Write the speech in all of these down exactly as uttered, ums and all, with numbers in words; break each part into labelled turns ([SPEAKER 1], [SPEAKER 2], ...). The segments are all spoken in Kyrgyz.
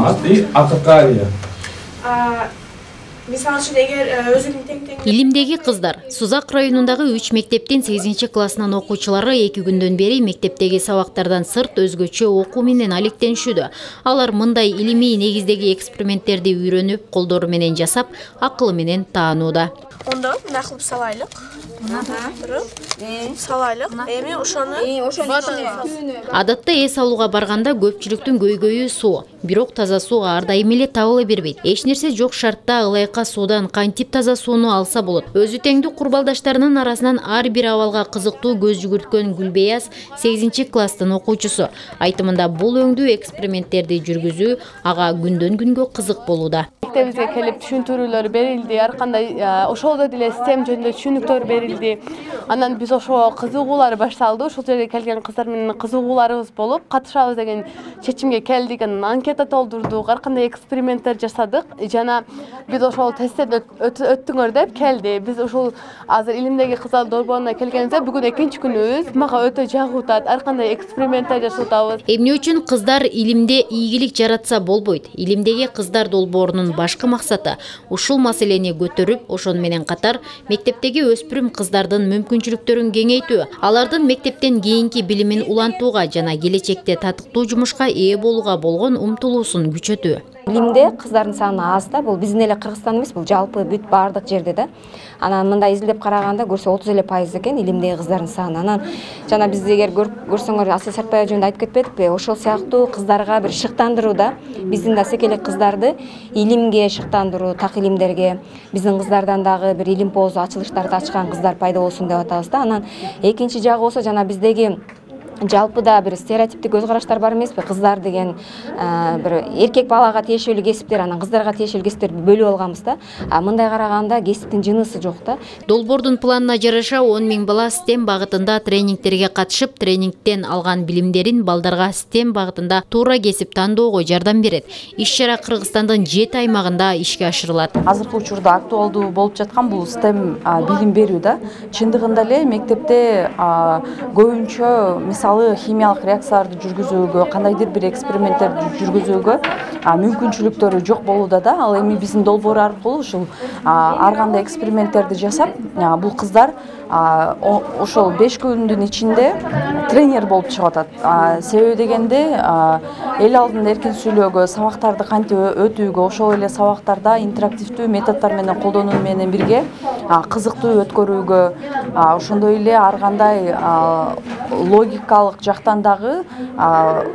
[SPEAKER 1] аты Акакария.
[SPEAKER 2] Мисалы үчүн эгер өзүнүн тең тең
[SPEAKER 3] Илимдеги кыздар Сузак районундагы үч мектептин сегизинчи классынын окуучулары эки күндөн бери мектептеги сабактардан сырт өзгөчө окуу менен алектенишүүдө. Алар мындай илимий негиздеги эксперименттерди үйрөнүп, колдору менен жасап, акылы менен таанууда.
[SPEAKER 2] Ондо мына кылып салайлык. Салайлык. Эми ошону
[SPEAKER 3] Адатта эс алууга барганда көпчүлүктүн көйгөйү суу. Бирок таза суу ар дайым эле табыла бербейт. Эч нерсе жок шартта ылайыка суудан кантип таза сууну алса болот. Өзү теңдүү курбалдаштарынын арасынан ар бир абалга кызыктуу көз жүгүрткөн Гүлбеяз сегизинчи класстын окуучусу. Айтымында бул өңдүү эксперименттерди жүргүзүү ага күндөн күнгө кызык болууда.
[SPEAKER 4] Мектебибизге келип түшүндүрүүлөр берилди, ар кандай ошолдо деле систем жөнүндө түшүнүктөр берилди. Анан биз ошо кызыгуулар башталды. Ошол жерге келген кыздар менен кызыгууларыбыз болуп, катышабыз деген чечимге келдик. Анан анкета толтурдук, ар кандай эксперименттер жасадык. Жана биз ошол тесттерди өттүңөр деп келди. Биз ошол азыр илимдеги кыздар долбооруна келгенибизде бүгүн экинчи күнүбүз. Мага өтө жагуутат. Ар кандай эксперименттер жасатабыз.
[SPEAKER 3] Эмне үчүн кыздар илимде ийгилик жаратса болбойт? Илимдеги кыздар долбоорунун башкы максаты ушул маселени көтөрүп, ошону менен катар мектептеги өспүрүм кыздардын мүмкүнчүлүктөрүн кеңейтүү, алардын мектептен кийинки билимин улантууга жана келечекте татыктуу жумушка ээ болууга болгон умтулуусун күчөтүү.
[SPEAKER 5] Илимде кыздардын саны аз да, бул биздин эле Кыргызстан эмес, бул жалпы бүт баардык жерде да. Анан мындай изилдеп караганда көрсө отуз эле пайыз экен илимдеги кыздардын саны. Анан жана биз эгер көрсөңөр Асия Сартбаева жөнүндө айтып кетпедикпи? Ошол сыяктуу кыздарга бир шыктандыруу да, биздин да секелек кыздарды илимге шыктандыруу, так илимдерге, биздин кыздардан дагы бир илим поозу ачылыштарды ачкан кыздар пайда болсун деп атабыз да. Анан экинчи жагы болсо жана биздеги жалпыда бир стереотиптик көз караштар бар эмеспи? Кыздар деген бир эркек балага тиешелүү кесиптер, анан кыздарга тиешелүү кесиптерди бөлүп алганбыз да. А мындай караганда кесиптин жынысы жок да.
[SPEAKER 3] Долбоордун планына жараша он миң бала STEM багытында тренингтерге катышып, тренингтен алган билимдерин балдарга STEM багытында туура кесип тандоого жардам берет. Иш-чара Кыргызстандын жети аймагында ишке ашырылат.
[SPEAKER 6] Азыркы учурда актуалдуу болуп жаткан бул STEM билим берүү да. Чындыгында эле мектепте көбүнчө мисалы химиялык реакцияларды жүргүзүүгө, кандайдыр бир эксперименттерди жүргүзүүгө мүмкүнчүлүктөрү жок болууда да. Ал эми биздин долбоор аркылуу ушул ар кандай эксперименттерди жасап, бул кыздар ошол беш күндүн ичинде тренер болуп чыгып атат. Себеби дегенде эл алдында эркин сүйлөөгө, сабактарды кантип өтүүгө, ошол эле сабактарда интерактивдүү методдор менен колдонуу менен бирге кызыктуу өткөрүүгө, ошондой эле ар кандай логикалык жактан дагы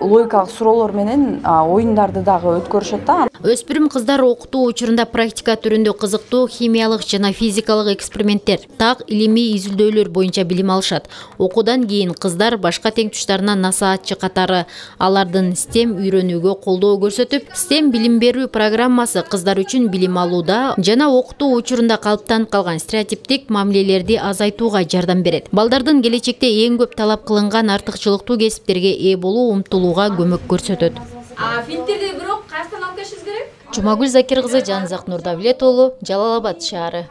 [SPEAKER 6] логикалык суроолор менен оюндарды дагы өткөрүшөт да.
[SPEAKER 3] Өспүрүм кыздар окутуу учурунда практика түрүндө кызыктуу химиялык жана физикалык эксперименттер, так илимий изилдөөлөр боюнча билим алышат. Окуудан кийин кыздар башка теңтуштарына насаатчы катары алардын STEM үйрөнүүгө колдоо көрсөтүп, STEM билим берүү программасы кыздар үчүн билим алууда жана окутуу учурунда калыптанып калган стереотиптик мамилелерди азайтууга жардам берет. Балдардын келечекте эң көп талап кылынган артыкчылыктуу кесиптерге ээ болуу умтулууга көмөк көрсөтөт.
[SPEAKER 7] А фильтрди бирок кайдан алып келишибиз керек?
[SPEAKER 3] Жумагүл Закир кызы, Жанзак Нурдавлет уулу, Жалал Абад шаары.